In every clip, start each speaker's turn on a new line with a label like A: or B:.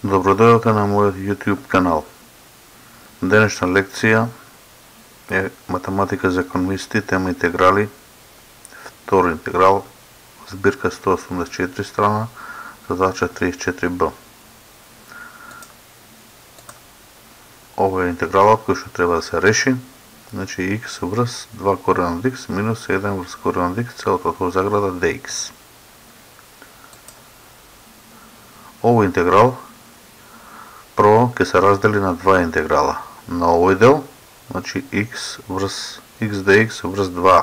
A: Добродојавте на мојот YouTube канал. Денешна лекција е математика за економисти, тема интеграли, втори интеграл, збирка 184 страна, задача 34b. Ова е интегралот кој што треба да се реши. Значи x врз 2 корен од x минус 1 врз корен од x целото во заграда dx. Овој интеграл прво ќе се раздели на два интеграла. На овој дел, значи x dx врз 2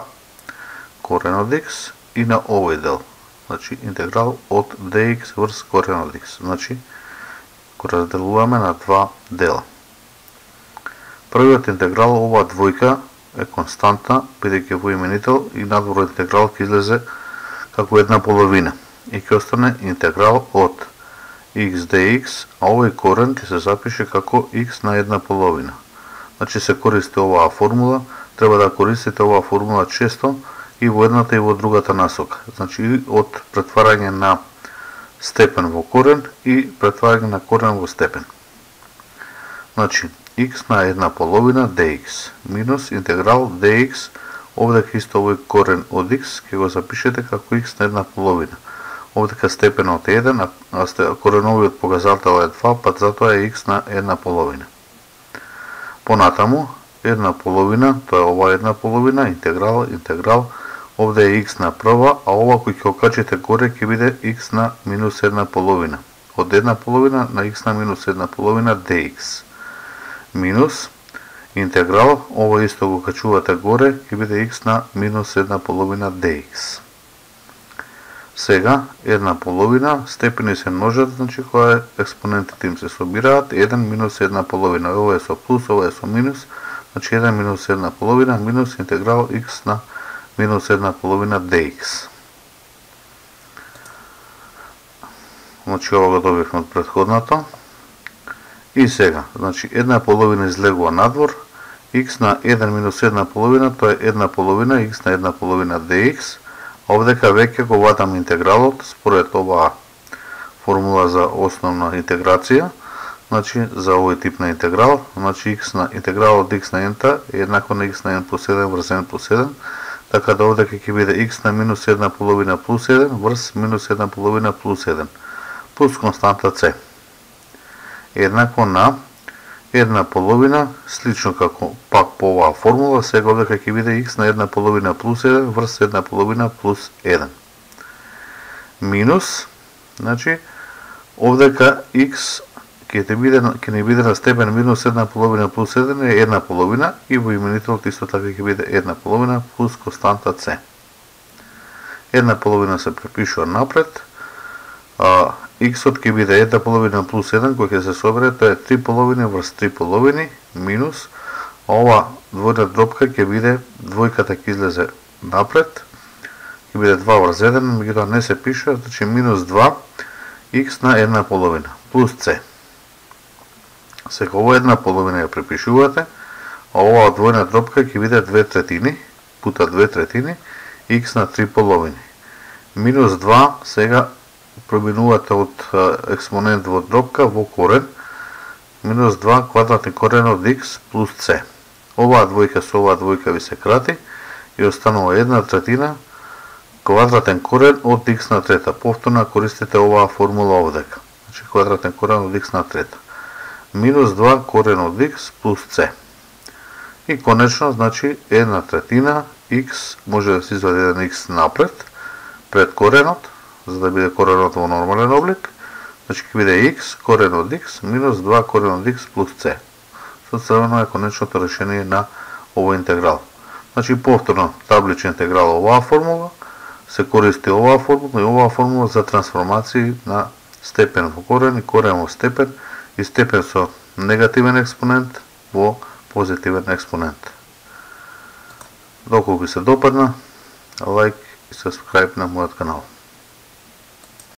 A: корен од x и на овој дел, значи интеграл од dx врз корен од x. Значи го разделуваме на два дела. Првиот интеграл, оваа двојка е константна, бидејќи во именител и надвор интеграл ќе излезе како една половина и ќе остане интеграл од x dx, а овој корен ќе се запише како x на една половина. Значи се користи оваа формула, треба да користите оваа формула често и во едната и во другата насока. Значи од претварање на степен во корен и претварање на корен во степен. Значи x на една половина dx минус интеграл dx, овдека исто овој корен од x ќе го запишете како x на една половина. Овдека степенот е 1, а кореновиот показател е 2, пат затоа е x на една половина. Понатаму, една половина, тоа е ова една половина, интеграл, овде е x на прва, а ова кој ќе окачите горе ќе биде x на минус една половина. Од една половина на x на минус една половина dx. Минус интеграл, ова исто го качувате горе, ќе биде x на минус една половина dx. Сега, една половина, степени се множат, значи кога експонентите им се собираат, 1 минус една половина, ова е со плюс, ова е со минус, значи 1 минус една половина, минус интеграл x на минус една половина dx. Значи ова го добивме од претходното. И сега, значи една половина излегува надвор, x на 1 минус една половина, тоа е една половина, x на една половина dx. Овдека веќе го вадам интегралот според оваа формула за основна интеграција, значи за овој тип на интеграл, значи интеграл од x на n е еднакво на x на n плюс 1 врз n плюс 1, така да овдека ќе биде x на минус една половина плюс 1 врз минус една половина плюс 1, плюс константа c. Еднакво на една половина, слично како пак по оваа формула, сега овдека ќе биде x на една половина плюс 1 врз една половина плюс 1. Минус, значи, овдека x ќе не биде на степен минус една половина плюс 1 е една половина и во именителот исто така ќе биде една половина плюс константа c. Една половина се препишува напред, x-от ќе биде една половина плюс 1, кој ќе се собере, тоа е 3 половини врз 3 половини, минус, ова двојна дробка ќе биде, двојката ќе излезе напред, ќе биде 2 врз 1, меѓутоа не се пише, значи минус 2, x на една половина, плюс c. Сега ова една половина ја препишувате, а оваа двојна дробка ќе биде 2 третини, пута 2 третини, x на 3 половини. Минус 2, сега преминувате од експонент во дробка во корен, минус 2 квадратен корен од x плюс c. Оваа двојка со оваа двојка ви се крати и останува една третина квадратен корен од x на трета. Повторно користите оваа формула овдека. Значи квадратен корен од x на трета. Минус 2 корен од x плюс c. И конечно, значи една третина x, може да се извади еден x напред, пред коренот, за да биде коренот во нормален облик, значи ќе биде x корен од x минус 2 корен од x плюс c. Со црвено е конечното решение на овој интеграл. Значи повторно табличен интеграл оваа формула, се користи оваа формула и оваа формула за трансформации на степен во корен и корен во степен и степен со негативен експонент во позитивен експонент. Доколку ви се допадна, лайк и subscribe на мојот канал.